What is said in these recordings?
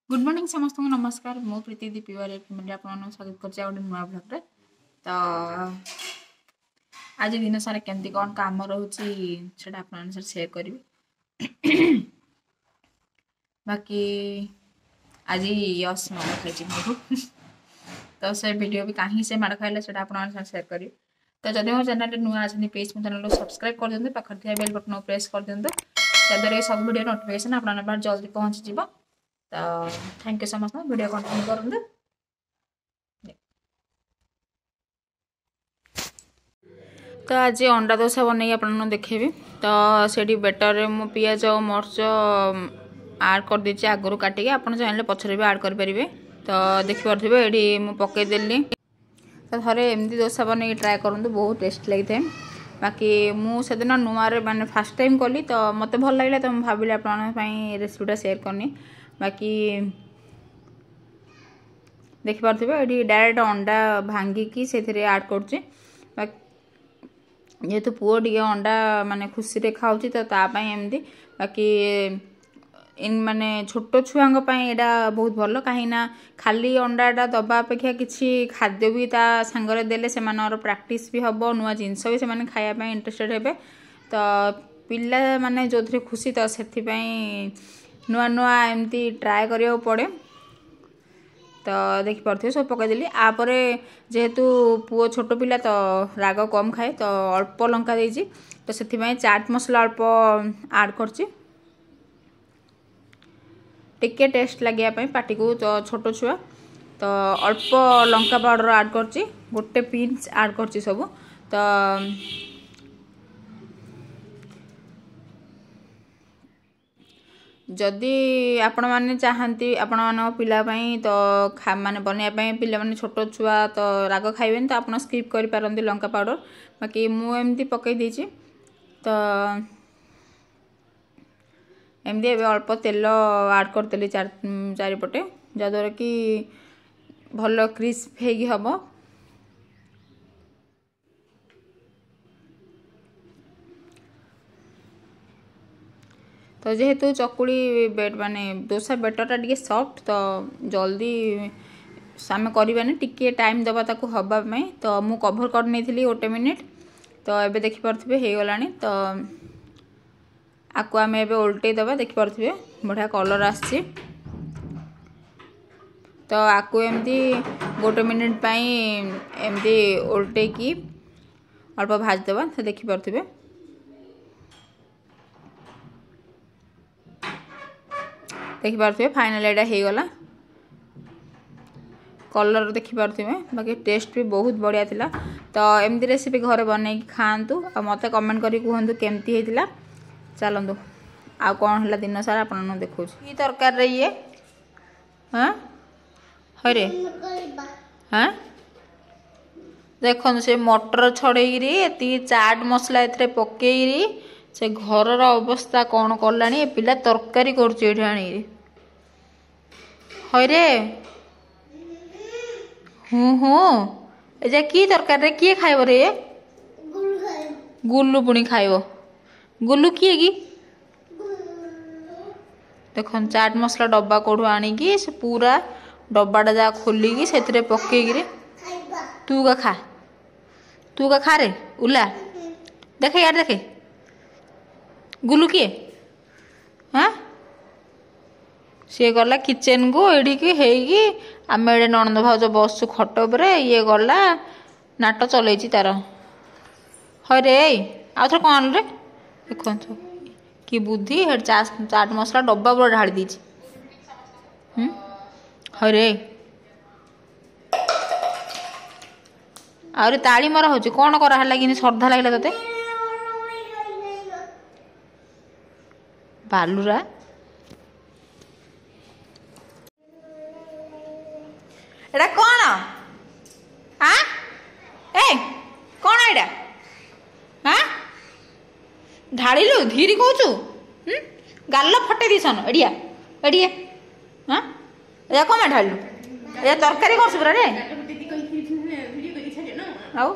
Good morning ସମସ୍ତଙ୍କୁ ନମସ୍କାର। ମୁଁ ପ୍ରୀତି ଦି ପିୱାର ଫ୍ୟାମିଲି ଆପଣମାନଙ୍କୁ ସ୍ୱାଗତ କରୁଛି ଆଉ ଗୋଟେ ନୂଆ ବ୍ଲଗ୍ରେ। ତ ଆଜି ଦିନ ସାରା କେମିତି କ'ଣ କାମ ରହୁଛି ସେଇଟା ଆପଣଙ୍କ ସହ ସେୟାର କରିବି। ବାକି ଆଜି ୟସ୍ ମାଡ଼ ଖାଇଛି ମୋଠୁ, ତ ସେ ଭିଡ଼ିଓ ବି କାହିଁକି ସେ ମାଡ଼ ଖାଇଲେ ସେଇଟା ଆପଣଙ୍କ ସହ ସେୟାର କରିବି। ତ ଯଦି ମୋ ଚ୍ୟାନେଲରେ ନୂଆ ଅଛନ୍ତି, ପ୍ଲିଜ୍ ମୋ ଚ୍ୟାନେଲକୁ ସବସ୍କ୍ରାଇବ୍ କରିଦିଅନ୍ତୁ, ପାଖରେ ଥିବା ବେଲ୍ ବଟନ୍କୁ ପ୍ରେସ୍ କରିଦିଅନ୍ତୁ, ଯାହାଦ୍ୱାରା କି ସବୁ ଭିଡ଼ିଓ ନୋଟିଫିକେସନ୍ ଆପଣଙ୍କ ପାଖରେ ଜଲ୍ଦି ପହଞ୍ଚିଯିବ। ତ thank you ସମସ୍ତଙ୍କୁ, ଭିଡ଼ିଓ କଣ୍ଟିନ୍ୟୁ କରନ୍ତୁ। ତ ଆଜି ଅଣ୍ଡା ଦୋସା ବନେଇକି ଆପଣଙ୍କୁ ଦେଖେଇବି। ତ ସେଇଠି ବେଟରରେ ମୁଁ ପିଆଜ ଆଉ ମରିଚ ଆଡ଼୍ କରିଦେଇଛି ଆଗରୁ କାଟିକି, ଆପଣ ଚାହିଁଲେ ପଛରେ ବି ଆଡ଼୍ କରିପାରିବେ। ତ ଦେଖିପାରୁଥିବେ ଏଇଠି ମୁଁ ପକେଇଦେଲି। ତ ଥରେ ଏମିତି ଦୋସା ବନେଇକି ଟ୍ରାଏ କରନ୍ତୁ, ବହୁତ ଟେଷ୍ଟ ଲାଗିଥାଏ। ବାକି ମୁଁ ସେଦିନ ନୂଆରେ ମାନେ ଫାର୍ଷ୍ଟ ଟାଇମ୍ କଲି, ତ ମୋତେ ଭଲ ଲାଗିଲା, ତ ମୁଁ ଭାବିଲି ଆପଣଙ୍କ ପାଇଁ ରେସିପିଟା ସେୟାର କରିନି। ବାକି ଦେଖିପାରୁଥିବେ ଏଇଠି ଡାଇରେକ୍ଟ ଅଣ୍ଡା ଭାଙ୍ଗିକି ସେଥିରେ ଆଡ଼୍ କରୁଛି। ବାକି ଯେହେତୁ ପୁଅ ଟିକେ ଅଣ୍ଡା ମାନେ ଖୁସିରେ ଖାଉଛି, ତ ତା ପାଇଁ ଏମିତି। ବାକି ମାନେ ଛୋଟ ଛୁଆଙ୍କ ପାଇଁ ଏଇଟା ବହୁତ ଭଲ, କାହିଁକିନା ଖାଲି ଅଣ୍ଡାଟା ଦେବା ଅପେକ୍ଷା କିଛି ଖାଦ୍ୟ ବି ତା ସାଙ୍ଗରେ ଦେଲେ ସେମାନଙ୍କର ପ୍ରାକ୍ଟିସ୍ ବି ହେବ, ନୂଆ ଜିନିଷ ବି ସେମାନେ ଖାଇବା ପାଇଁ ଇଣ୍ଟରେଷ୍ଟେଡ଼ ହେବେ। ତ ପିଲାମାନେ ଯେଉଁଥିରେ ଖୁସି, ତ ସେଥିପାଇଁ ନୂଆ ନୂଆ ଏମିତି ଟ୍ରାଏ କରିବାକୁ ପଡ଼େ। ତ ଦେଖିପାରୁଥିବେ ସବୁ ପକାଇଦେଲି। ଆପରେ ଯେହେତୁ ପୁଅ ଛୋଟ ପିଲା ତ ରାଗ କମ୍ ଖାଏ, ତ ଅଳ୍ପ ଲଙ୍କା ଦେଇଛି, ତ ସେଥିପାଇଁ ଚାଟ୍ ମସଲା ଅଳ୍ପ ଆଡ଼୍ କରିଛି ଟିକେ ଟେଷ୍ଟ ଲାଗିବା ପାଇଁ ପାଟିକୁ। ତ ଛୋଟ ଛୁଆ, ତ ଅଳ୍ପ ଲଙ୍କା ପାଉଡ଼ର ଆଡ଼୍ କରିଛି, ଗୋଟେ ପିଞ୍ଚ ଆଡ଼୍ କରିଛି ସବୁ। ତ ଯଦି ଆପଣମାନେ ଚାହାନ୍ତି ଆପଣମାନଙ୍କ ପିଲା ପାଇଁ ତ ମାନେ ବନେଇବା ପାଇଁ, ପିଲାମାନେ ଛୋଟ ଛୁଆ ତ ରାଗ ଖାଇବେନି, ତ ଆପଣ ସ୍କିପ୍ କରିପାରନ୍ତି ଲଙ୍କା ପାଉଡ଼ର। ବାକି ମୁଁ ଏମିତି ପକାଇ ଦେଇଛି। ତ ଏମିତି ଏବେ ଅଳ୍ପ ତେଲ ଆଡ଼୍ କରିଦେଲି ଚାରିପଟେ, ଯାହାଦ୍ୱାରା କି ଭଲ କ୍ରିସ୍ପ ହେଇକି ହେବ। ତ ଯେହେତୁ ଚକୁଳି ମାନେ ଦୋସା ବେଟରଟା ଟିକେ ସଫ୍ଟ, ତ ଜଲ୍ଦି ଆମେ କରିବାନି, ଟିକେ ଟାଇମ୍ ଦେବା ତାକୁ ହେବା ପାଇଁ। ତ ମୁଁ କଭର୍ କରିନେଇଥିଲି ଗୋଟେ ମିନିଟ୍। ତ ଏବେ ଦେଖିପାରୁଥିବେ ହେଇଗଲାଣି। ତ ଆକୁ ଆମେ ଏବେ ଓଲଟେଇ ଦେବା। ଦେଖିପାରୁଥିବେ ବଢ଼ିଆ କଲର୍ ଆସିଛି। ତ ଆକୁ ଏମିତି ଗୋଟେ ମିନିଟ୍ ପାଇଁ ଏମିତି ଓଲଟେଇକି ଅଳ୍ପ ଭାଜିଦେବା। ସେ ଦେଖିପାରୁଥିବେ, ଦେଖିପାରୁଥିବେ ଫାଇନାଲ୍ ଏଇଟା ହେଇଗଲା। କଲର୍ ଦେଖିପାରୁଥିବେ, ବାକି ଟେଷ୍ଟ ବି ବହୁତ ବଢ଼ିଆ ଥିଲା। ତ ଏମିତି ରେସିପି ଘରେ ବନେଇକି ଖାଆନ୍ତୁ ଆଉ ମୋତେ କମେଣ୍ଟ କରି କୁହନ୍ତୁ କେମିତି ହେଇଥିଲା। ଚାଲନ୍ତୁ ଆଉ କ'ଣ ହେଲା ଦିନ ସାରା ଆପଣଙ୍କୁ ଦେଖାଉଛି। କି ତରକାରୀରେ ଇଏ? ହଁ ହଇରେ, ହଁ ଦେଖନ୍ତୁ ସେ ମଟର ଛଡ଼େଇକିରି ଏତିକି ଚାଟ୍ ମସଲା ଏଥିରେ ପକେଇକିରି ସେ ଘରର ଅବସ୍ଥା କ'ଣ କଲାଣି। ଏ ପିଲା ତରକାରୀ କରୁଛି ଏଇଠି ଆଣିକିରି। ହଇରେ, ହୁଁ ହୁଁ, ଏ ଯା କି ତରକାରୀରେ କିଏ ଖାଇବ ରେ? ଗୁଲୁ ପୁଣି ଖାଇବ। ଗୁଲୁ କିଏ କି? ଦେଖନ୍ତୁ ଚାଟ୍ ମସଲା ଡବା କୋଉଠୁ ଆଣିକି ସେ ପୁରା ଡବାଟା ଯାହା ଖୋଲିକି ସେଥିରେ ପକେଇକିରି ତୁ କା ଖା, ତୁ କା ଖା ରେ ଉଲା। ଦେଖେ ଇଆଡ଼େ ଦେଖେ, ଗୁଲୁ କିଏ? ହଁ ସିଏ ଗଲା କିଚେନକୁ ଏଇଠିକି ହେଇକି, ଆମେ ଏଇଠି ନଣନ୍ଦ ଭାଉଜ ବସୁଛୁ ଖଟ ଉପରେ, ଇଏ ଗଲା ନାଟ ଚଲେଇଛି ତାର। ହଇରେ ଏଇ ଆଉ ଥରେ କ'ଣ ରେ? ଦେଖନ୍ତୁ କି ବୁଦ୍ଧି, ହେଠି ଚାଟ୍ ମସଲା ଡବା ପୁରା ଢାଳି ଦେଇଛି। ହଇରେ ଆହୁରି ତାଳି ମରା ହେଉଛି। କ'ଣ କରାହେଲା କି ଶ୍ରଦ୍ଧା ଲାଗିଲା ତତେ ବାଲୁରା? ଏଟା କ'ଣ? ଆଁ ଏ କ'ଣ ଏଇଟା? ହଁ ଢାଳିଲୁ ଧୀରି କହୁଛୁ, ଗାଲ ଫଟେଇ ଦେଇଛନ। ଏଡ଼ିଆ ଏଡ଼ିଆ, ହଁ ଏଇଆ କ'ଣ ଢାଳିଲୁ? ଏଇଆ ତରକାରୀ କରୁଛୁ ପୁରା ରେ। ଆଉ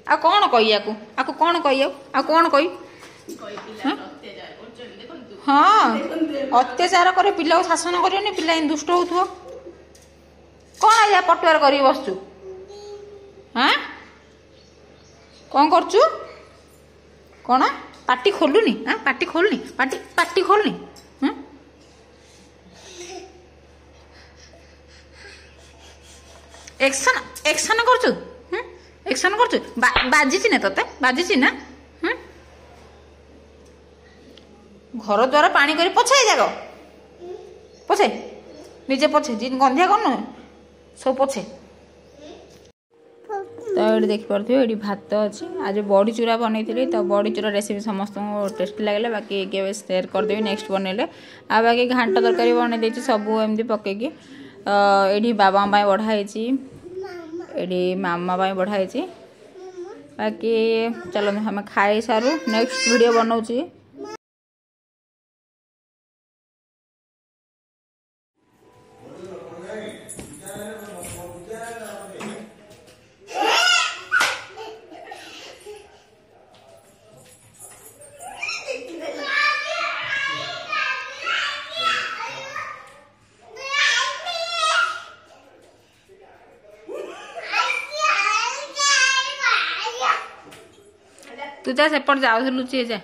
ଆଉ କ'ଣ କହି ଆକୁ? ଆକୁ କ'ଣ କହି? ଆଉ ଆଉ କ'ଣ କହି? ହଁ, ଅତ୍ୟାଚାର କରେ ପିଲାକୁ, ଶାସନ କରିବନି, ପିଲା ଏମିତି ଦୁଷ୍ଟ ହଉଥିବ। କ'ଣ ଆଜ୍ଞା ପଟୁଆର କରିକି ବସୁଛୁ? ହାଁ, କ'ଣ କରୁଛୁ? କ'ଣ ପାଟି ଖୋଲୁନି? ଆଁ, ପାଟି ଖୋଲୁନି, ପାଟି ପାଟି ଖୋଲୁନି। ଏକ୍ସନ ଏକ୍ସନ କରୁଛୁ, ଏକ୍ସନ କରୁଛୁ। ବାଜିଛି ନା ତତେ? ବାଜିଛି ନା? ଘର ଦ୍ୱାର ପାଣି କରି ପୋଛେ, ଯାକ ପୋଛେ, ନିଜେ ପୋଛେ। ଗନ୍ଧିଆ କରୁନୁ, ସବୁ ପୋଛେ। ତ ଏଇଠି ଦେଖିପାରୁଥିବେ, ଏଇଠି ଭାତ ଅଛି। ଆଜି ବଡ଼ି ଚୁରା ବନେଇଥିଲି, ତ ବଡ଼ି ଚୁରା ରେସିପି ସମସ୍ତଙ୍କୁ ଟେଷ୍ଟି ଲାଗିଲା। ବାକି କେବେ ସେୟାର କରିଦେବି ନେକ୍ସଟ ବନେଇଲେ। ଆଉ ବାକି ଘାଣ୍ଟ ତରକାରୀ ବନେଇ ଦେଇଛି ସବୁ ଏମିତି ପକେଇକି। ଏଇଠି ବାବାଙ୍କ ପାଇଁ ବଢ଼ା ହେଇଛି, ଏଇଠି ମାମା ପାଇଁ ବଢ଼ା ହେଇଛି। ବାକି ଚାଲନ୍ତୁ ଆମେ ଖାଇସାରୁ, ନେକ୍ସଟ ଭିଡ଼ିଓ ବନଉଛି। ତୁ ଯା ସେପଟେ ଯାଉଥିଲୁ, ଲୁଚି ଯା।